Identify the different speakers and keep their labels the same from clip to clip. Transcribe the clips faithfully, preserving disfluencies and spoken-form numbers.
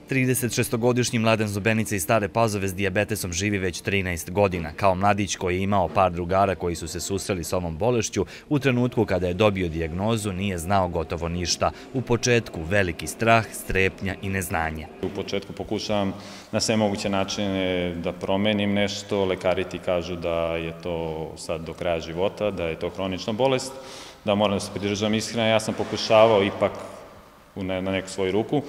Speaker 1: tridesetšestogodišnji Mladen Zubenica iz Stare Pazove s dijabetesom živi već trinaest godina. Kao mladić koji je imao par drugara koji su se susreli s ovom bolešću, u trenutku kada je dobio dijagnozu nije znao gotovo ništa. U početku veliki strah, strepnja i neznanje.
Speaker 2: U početku pokušavam na sve moguće načine da promenim nešto. Lekari ti kažu da je to sad do kraja života, da je to hronična bolest, da moram da se pridržavam ishrane. Ja sam pokušavao ipak na neku svoju ruku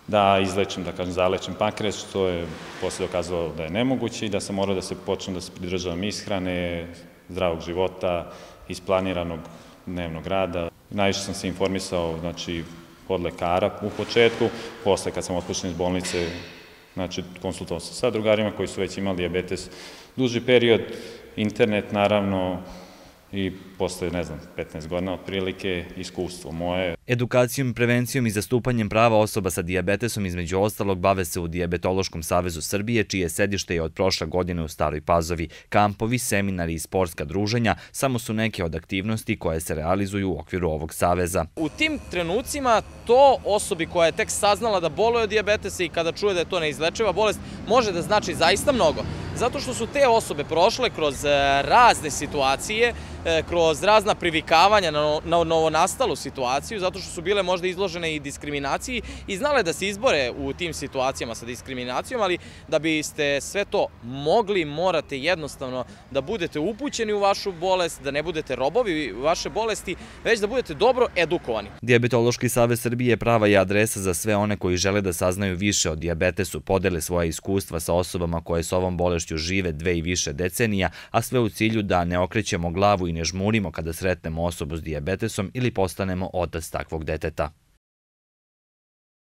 Speaker 2: da izlečim, da kažem, zalečim pankreas, što je posle dokazalo da je nemoguće i da sam morao da se počnem da se pridržavam ishrane, zdravog života, isplaniranog dnevnog rada. Najviše sam se informisao, znači, od lekara u početku, posle kad sam otpušten iz bolnice, znači, konsultovao sam sa drugarima koji su već imali dijabetes duži period, internet, naravno, i posle, ne znam, petnaest godina otprilike, iskustvo moje.
Speaker 1: Edukacijom, prevencijom i zastupanjem prava osoba sa dijabetesom između ostalog bave se u Dijabetološkom savezu Srbije, čije sedište je od prošle godine u Staroj Pazovi. Kampovi, seminari i sportska druženja samo su neke od aktivnosti koje se realizuju u okviru ovog saveza.
Speaker 3: U tim trenucima to osobi koja je tek saznala da boluje od dijabetesa i kada čuje da je to neizlečiva bolest može da znači zaista mnogo. Zato što su te osobe prošle kroz razne situacije, kroz razna privikavanja na novonastalu situaciju, zato što su bile možda izložene i diskriminaciji i znale da se izbore u tim situacijama sa diskriminacijom, ali da biste sve to mogli, morate jednostavno da budete upućeni u vašu bolest, da ne budete robovi vaše bolesti, već da budete dobro edukovani.
Speaker 1: Dijabetološki savez Srbije je prava i adresa za sve one koji žele da saznaju više o dijabetesu, podele svoje iskustva sa osobama koje s ovom bolešću žive dve i više decenija, a sve u cilju da ne okrećemo glavu i ne žmurimo kada sretnemo osobu s dijabetesom ili postanemo otac takvog deteta.